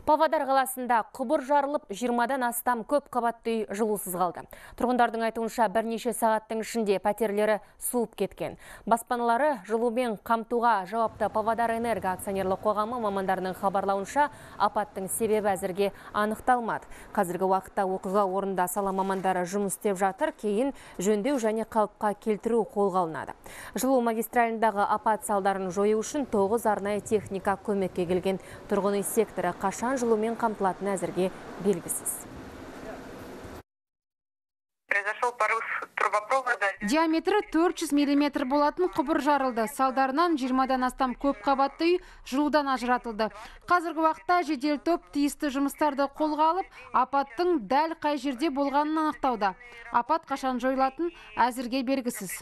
Павлодар қаласында құбыр жарылып, 20-дан астам көп қабатты үй жылусыз қалды. Тұрғындардың айтуынша бірнеше сағаттың ішінде пәтерлері суып кеткен. Баспаналары жылумен қамтуға жауапты Павлодар Энерго акционерлік қоғамы мамандарының хабарлауынша апаттың себебі әзірге анықталмады. Қазіргі уақытта оқиға орнында сала мамандары жұмыс істеп жатыр, кейін жөндеу және қалыпқа келтіру қолға алынады. Жылу магистралындағы апат салдарын жою үшін 9 арнайы техника көмекке келген. Тұрғын үй секторы қашан жылумен қамтылатыны әзірге белгісіз. Диаметрі 400 мм болатын құбыр жарылды. Салдарынан 20-дан астам көп қабатты үй жылудан ажыратылды. Қазіргі уақытта жедел топ тиісті жұмыстарды қолға алып, апаттың дәл қай жерде болғанын анықтауда. Апат қашан жойылатын әзірге белгісіз.